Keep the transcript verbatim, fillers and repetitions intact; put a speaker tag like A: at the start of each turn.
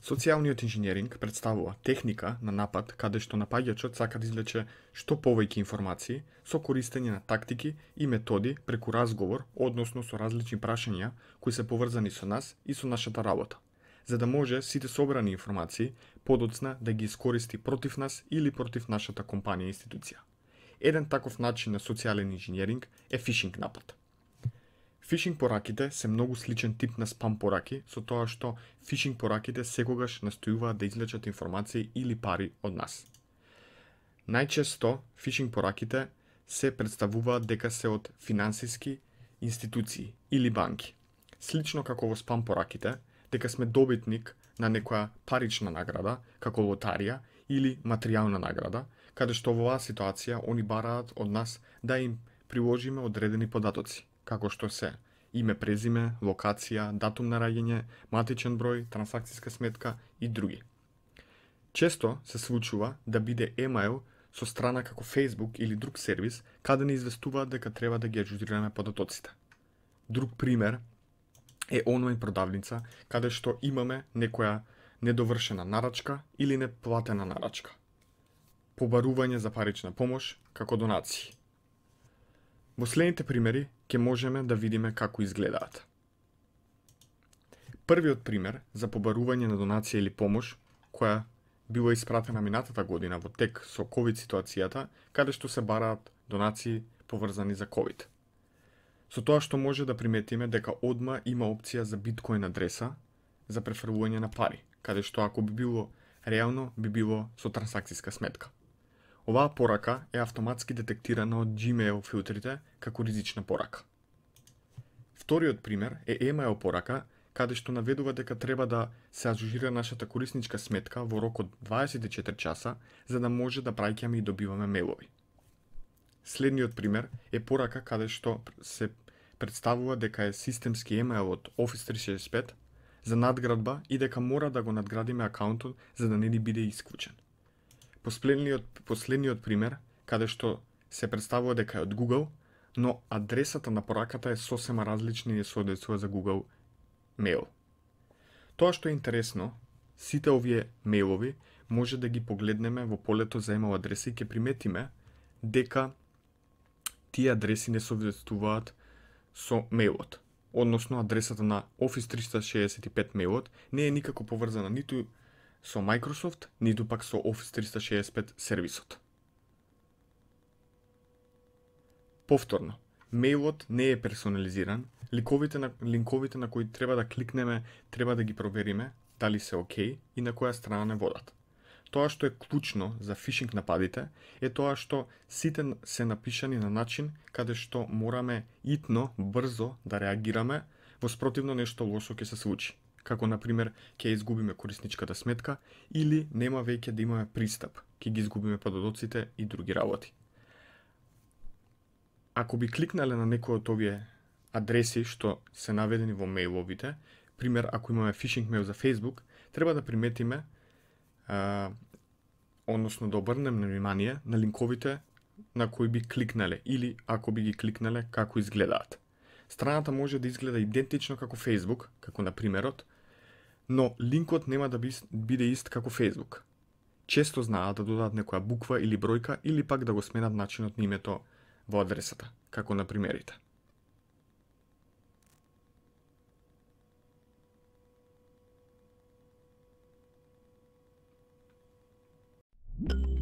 A: Социјалниот инженеринг представува техника на напад каде што напаѓачот сака да извлече што повеќе информации со користење на тактики и методи преку разговор, односно со различни прашања кои се поврзани со нас и со нашата работа, за да може сите собрани информации подоцна да ги искористи против нас или против нашата компанија и институција. Еден таков начин на социјален инженеринг е фишинг напад. Фишинг пораките се многу сличен тип на спам пораки, со тоа што фишинг пораките секогаш настојуваат да извлечат информации или пари од нас. Најчесто фишинг пораките се представуваат дека се од финансиски институции или банки. Слично како во спам пораките, дека сме добитник на некоја парична награда, како лотарија или материјална награда, каде што во оваа ситуација они бараат од нас да им приложиме одредени податоци, како што се име, презиме, локација, датум на раѓање, матичен број, трансакциска сметка и други. Често се случува да биде емаил со страна како Facebook или друг сервис каде ни известуваат дека треба да ги аџурираме податоците. Друг пример е онлайн продавница каде што имаме некоја недовршена нарачка или неплатена нарачка. Побарување за парична помош како донации. Во следните примери ќе можеме да видиме како изгледаат. Првиот пример за побарување на донација или помош, која била испратена минатата година во тек со ковид ситуацијата, каде што се бараат донации поврзани за ковид. Со тоа што може да приметиме дека одма има опција за биткоин адреса за префрлување на пари, каде што ако би било реално би било со трансакциска сметка. Оваа порака е автоматски детектирана од Gmail филтрите како ризична порака. Вториот пример е емаил порака, каде што наведува дека треба да се аџурира нашата корисничка сметка во рок од дваесет и четири часа, за да може да праќаме и добиваме мејлови. Следниот пример е порака каде што се представува дека е системски емаил од Office триста шесет и пет за надградба и дека мора да го надградиме акаунтот за да не ни биде исклучен. Последниот, последниот пример, каде што се представува дека е од Google, но адресата на пораката е сосема различна и не соодветствува за Google Mail. Тоа што е интересно, сите овие мејлови може да ги погледнеме во полето за емаил адреси и ќе приметиме дека тие адреси не соодветствуваат со мејлот. Односно, адресата на Office триста шесет и пет мејлот не е никако поврзана ниту со Microsoft, ниту пак со Office триста шесет и пет сервисот. Повторно, мејлот не е персонализиран, линковите на, линковите на кои треба да кликнеме, треба да ги провериме дали се окей и на која страна не водат. Тоа што е клучно за фишинг нападите е тоа што сите се напишани на начин каде што мораме итно, брзо да реагираме, во спротивно нешто лошо ќе се случи, како например ќе изгубиме корисничката сметка или нема веќе да имаме пристап, ќе ги изгубиме податоците и други работи. Ако би кликнале на некој од овие адреси што се наведени во мејловите, пример ако имаме фишинг мејл за Facebook, треба да приметиме а, односно да обрнеме внимание на линковите на кои би кликнале или ако би ги кликнале како изгледаат. Страната може да изгледа идентично како Facebook, како на примерот, но линкот нема да биде ист како Facebook. Често знаат да додаат некоја буква или бројка или пак да го сменат начинот на името во адресата, како на примерите.
B: you